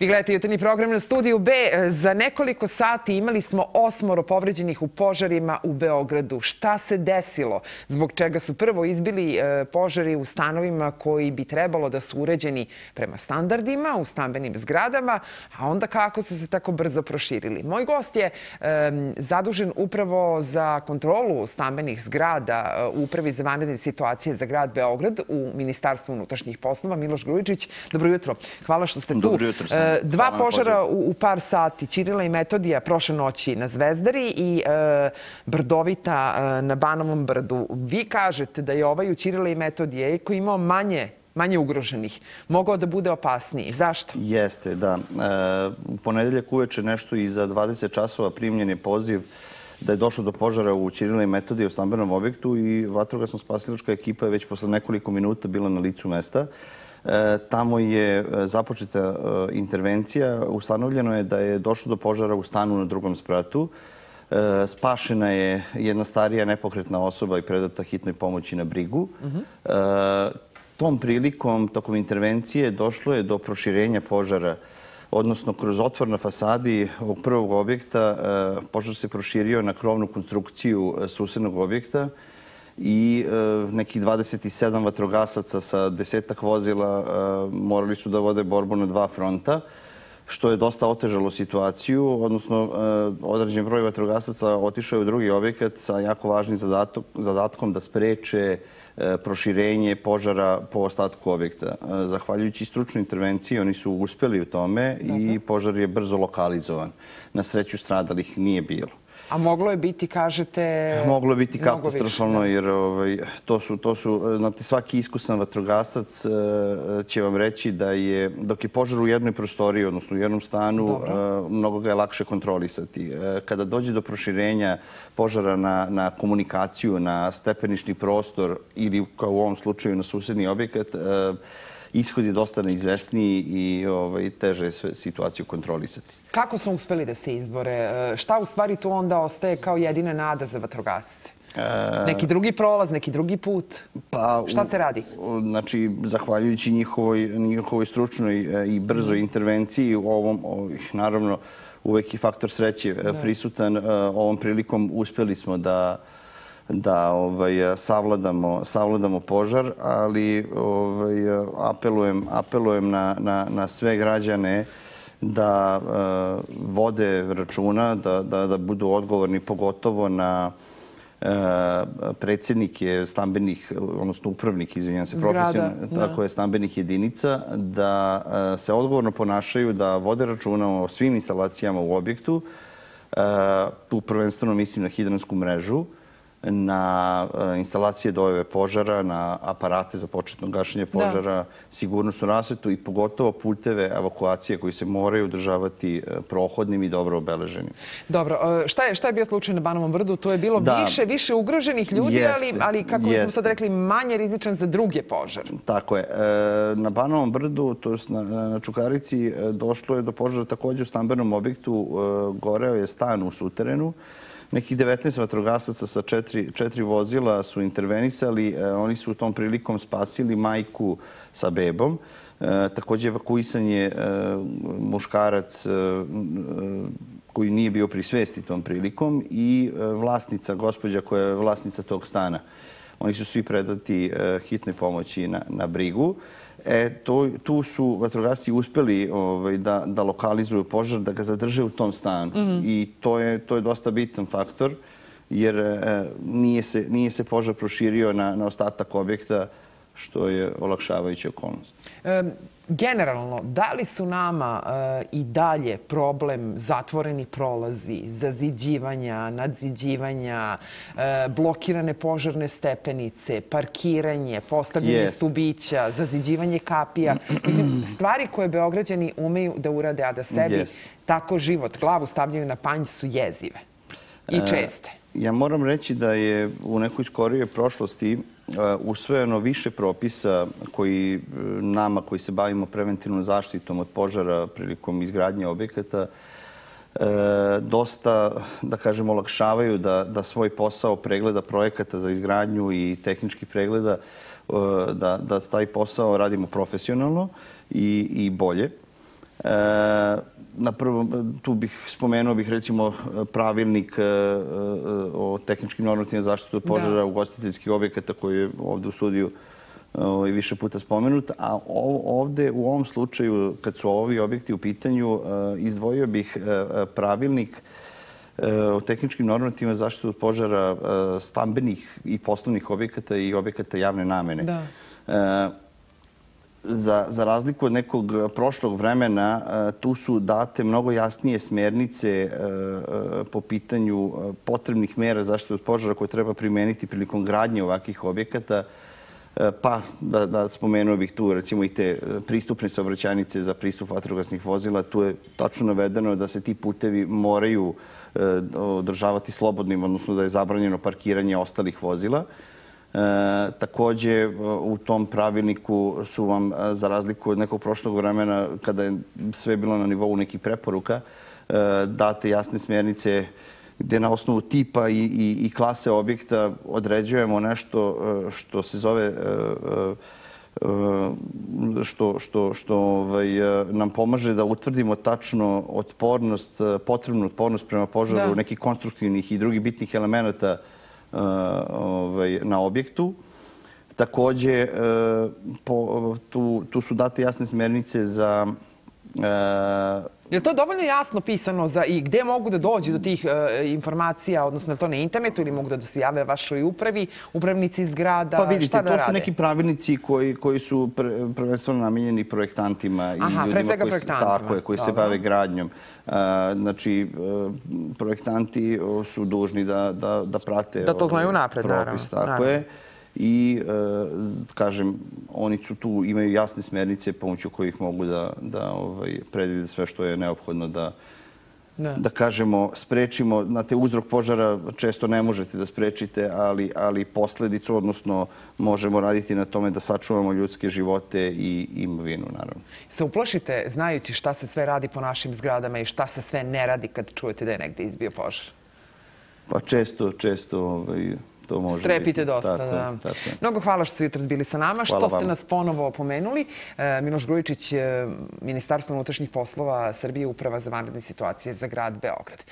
Vi gledate jutarnji program na Studiju B. Za nekoliko sati imali smo 8 povređenih u požarima u Beogradu. Šta se desilo? Zbog čega su prvo izbili požari u stanovima koji bi trebalo da su uređeni prema standardima u stambenim zgradama, a onda kako su se tako brzo proširili? Moj gost je zadužen upravo za kontrolu stambenih zgrada u Upravi za vanredne situacije za grad Beograd u Ministarstvu unutrašnjih poslova, Miloš Grujičić. Dobro jutro. Hvala što ste tu. Dobro jutro. Dva požara u par sati. Ćirila i Metodija prošle noći na Zvezdari i Brdovita na Banovom brdu. Vi kažete da je ovaj u Ćirila i Metodije koji imao manje ugroženih, mogao da bude opasniji. Zašto? Jeste, da. U ponedeljak uveče nešto iza 20 časova primljen je poziv da je došlo do požara u Ćirila i Metodije u stambenom objektu i vatrogasno-spasilačka ekipa je već posle nekoliko minuta bila na licu mesta. Tamo je započeta intervencija. Ustanovljeno je da je došlo do požara u stanu na drugom spratu. Spašena je jedna starija nepokretna osoba i predata hitnoj pomoći na brigu. Tom prilikom, tokom intervencije, došlo je do proširenja požara, odnosno kroz otvor na fasadi ovog prvog objekta požar se proširio na krovnu konstrukciju susednog objekta i nekih 27 vatrogasaca sa 10-ak vozila morali su da vode borbu na dva fronta, što je dosta otežalo situaciju, odnosno određen broj vatrogasaca otišao je u drugi objekat sa jako važnim zadatkom da spreče proširenje požara po ostatku objekta. Zahvaljujući stručnoj intervenciji oni su uspeli u tome i požar je brzo lokalizovan. Na sreću stradalih nije bilo. A moglo je biti, kažete... Moglo je biti katastrofalno jer znate, svaki iskusan vatrogasac će vam reći da je, dok je požar u jednoj prostoriji, odnosno u jednom stanu, mnogo ga je lakše kontrolisati. Kada dođe do proširenja požara na komunikaciju, na stepenišni prostor ili, kao u ovom slučaju, na susedni objekat, ishod je dosta neizvesniji i teže je situaciju kontrolisati. Kako su uspeli da se izbore? Šta u stvari tu onda ostaje kao jedina nada za vatrogasce? Neki drugi prolaz, neki drugi put? Šta se radi? Znači, zahvaljujući njihovoj stručnoj i brzoj intervenciji, naravno, uvek je faktor sreće prisutan. Ovom prilikom uspeli smo da savladamo požar, ali apelujem na sve građane da vode računa, da budu odgovorni, pogotovo na predsjednike stambenih, odnosno upravnik, izvinjam se, profesionalno, stambenih jedinica, da se odgovorno ponašaju, da vode računa o svim instalacijama u objektu. Tu prvenstveno mislim na hidransku mrežu, na instalacije dojave požara, na aparate za početno gašenje požara, sigurnosnu rasvetu i pogotovo puteve evakuacije koji se moraju održavati prohodnim i dobro obeleženim. Dobro. Šta je bio slučaj na Banovom brdu? To je bilo više ugroženih ljudi, ali kako smo sad rekli, manje rizičan za druge požare. Tako je. Na Banovom brdu, to je na Čukarici, došlo je do požara također u stambenom objektu. Goreo je stan u suterenu. Nekih 19 vatrogasaca sa 4 vozila su intervenisali. Oni su u tom prilikom spasili majku sa bebom. Također evakuisan je muškarac koji nije bio pri svesti tom prilikom i vlasnica, gospođa koja je vlasnica tog stana. Oni su svi predati hitnoj pomoći na brigu. Tu su vatrogasci uspeli da lokalizuju požar, da ga zadrže u tom stanu. I to je dosta bitan faktor, jer nije se požar proširio na ostatak objekta, što je olakšavajuća okolnost. Generalno, da li su nama i dalje problem zatvoreni prolazi, zaziđivanja, nadziđivanja, blokirane požarne stepenice, parkiranje, postavljanje stubića, zaziđivanje kapija? Stvari koje Beograđani umeju da urade, a da sebi tako život, glavu stavljaju na panj, su jezive i česte. Ja moram reći da je u nekoj skorijoj prošlosti usvojeno više propisa koji nama, koji se bavimo preventivnom zaštitom od požara prilikom izgradnje objekata, dosta, da kažem, olakšavaju da svoj posao pregleda projekata za izgradnju i tehničkih pregleda, da taj posao radimo profesionalno i bolje. Na prvom, tu spomenuo bih recimo pravilnik o tehničkim normativima zaštite od požara ugostiteljskih objekata koji je ovde u studiju više puta spomenut. A ovde u ovom slučaju, kad su ovi objekti u pitanju, izdvojio bih pravilnik o tehničkim normativima zaštite od požara stambenih i poslovnih objekata i objekata javne namene. Za razliku od nekog prošlog vremena, tu su date mnogo jasnije smernice po pitanju potrebnih mera zaštite od požara koje treba primeniti prilikom gradnje ovakvih objekata. Pa, da spomenuo bih tu recimo i te pristupne saobraćajnice za pristup vatrogasnih vozila. Tu je tačno navedeno da se ti putevi moraju održavati slobodnim, odnosno da je zabranjeno parkiranje ostalih vozila. Takođe, u tom pravilniku su vam, za razliku od nekog prošlog vremena, kada je sve bilo na nivou nekih preporuka, date jasne smjernice gde na osnovu tipa i klase objekta određujemo nešto što se zove, što nam pomaže da utvrdimo tačno potrebnu otpornost prema požaru nekih konstruktivnih i drugih bitnih elemenata na objektu. Takođe, tu su date jasne smernice za... Je li to dovoljno jasno pisano i gde mogu da dođu do tih informacija, odnosno je li to na internetu ili mogu da se jave vašoj upravi, upravnici zgrada, šta da rade? Pa vidite, to su neki pravilnici koji su prvenstveno namenjeni projektantima i ljudima koji se bave gradnjom. Znači, projektanti su dužni da prate da to znaju napred, propis. Tako je. I, kažem, oni su tu, imaju jasne smernice pomoću kojih mogu da predvide sve što je neophodno da kažemo, sprečimo. Znate, uzrok požara često ne možete da sprečite, ali posledicu, odnosno možemo raditi na tome da sačuvamo ljudske živote i imovinu, naravno. Se uplašite znajući šta se sve radi po našim zgradama i šta se sve ne radi kad čujete da je negde izbio požar? Pa često strepite dosta, da. Mnogo hvala što ste jutros bili sa nama, što ste nas ponovo opomenuli. Miloš Grujičić, Ministarstvo unutrašnjih poslova Srbije, Uprava za vanredne situacije za grad Beograd.